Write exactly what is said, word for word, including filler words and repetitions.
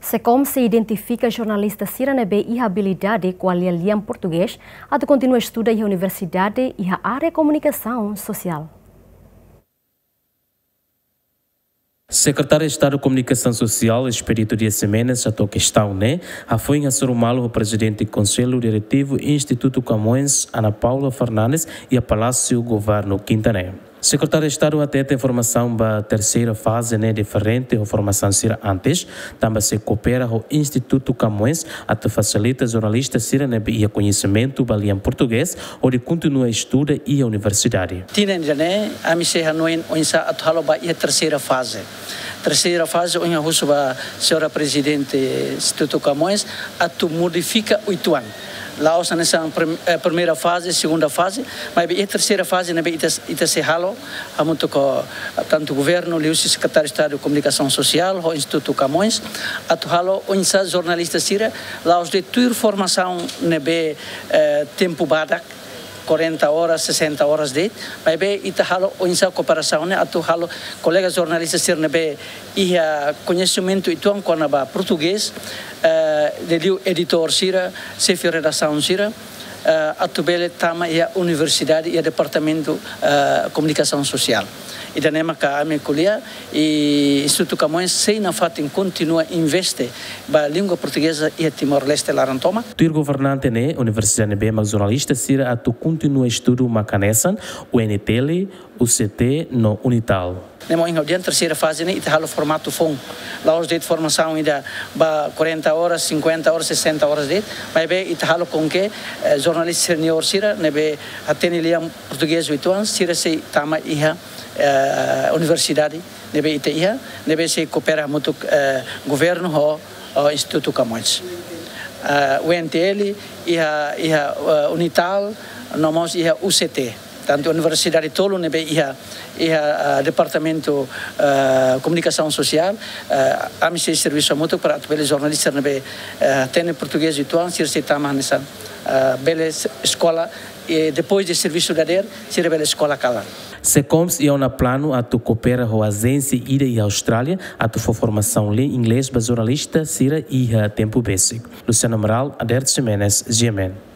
SECOM sei identifika jornalista sira ne'ebé iha abilidade ko'alia lian portugés atu kontinua estuda iha universidade iha área komunikasaun sosiál. Sekretáriu Estadu Komunikasaun Sosiál, Expedito Dias Ximenes, hato'o kestaun ne'e hafoin hasoru malu ho Prezidente Konsellu Diretivu Institutu Camões, Ana Paula Fernandes, iha Palásiu Governu, Kinta ne'e. Sekretáriu Estadu hateten formasaun ba terseira faze ne'e diferente ho formasaun sira antes, tanba sei koopera ho Institutu Camões atu fasilita jornalista sira ne'ebé iha koñesimentu ba lian portugés hodi kontinua estuda iha universidade. Tinan ida-ne'e, ami sei hanoin oinsá atu halo ba iha terseira faze. Terseira faze, ohin ha'u husu ba señora Prezidente Institutu Camões atu modifika uitoan. La'ós hanesan prim-, eh, primeira faze, segunda faze, maibé iha terseira faze ne'ebé ita, ita sei halo, hamutuk ho, eh, tantu governu, liuhusi Sekretáriu Estadu Komunikasaun Sosiál, ho Institutu Camões, atu halo oinsá jornalista sira, la'ós de'it tuir formasaun ne'ebé, eh, tempu badak, quarenta horas, sessenta horas de'it, maibé ita halo oinsá kooperasaun ne'e atu halo kolega jornalista sira ne'ebé iha koñesimentu uitoan kona-ba portugés, eh, liuliu editór sira, xefe redasaun sira, eh, atu bele tama iha universidade, iha departamentu, eh, komunikasaun sosiál. Ida-ne'e maka ami ko'alia, i Institutu Camões sei nafatin kontinua investe ba língua portugeza iha Timor-Leste laran tomak. Tuir governante ne'e, universidade ne'ebé mak jornalista sira atu kontinua estudu mak hanesan U N T L, U C T no Unital. Ne'e mak ohin ha'u dehan terseira faze ne'e ita halo formatu foun. La'ós de'it formasaun ida ba quarenta horas, cinquenta horas, sessenta horas de'it, maibé ita halo com que, eh, jornalista senior sira ne'ebé hatene lian portugés uitoan, sira sei tama iha, eh, universidade ne'ebé ita iha, ne'ebé sei koopera hamutuk, eh, governu ho, ho Institutu Camões. Eh, U N T L, iha, iha, eh, Unital, no mós iha U C T. Tantu universidade tolu ne'ebé iha, iha, eh, departamentu, eh, komunikasaun sosiál, eh, ami sei servisu hamutuk para atu bele jornalista ne'ebé, eh, hatene portugés uitoan, sira sei tama hanesan, eh, bele es-, eskola, i depois de servisu dadeer, sira bele eskola kalan. SECOM sei iha ona planu atu koopera ho ajénsia ida iha Austrália atu fó formasaun lian inglés ba jornalista sira iha tempu besik. Luciano Amaral, Adert Ximenes, G M N.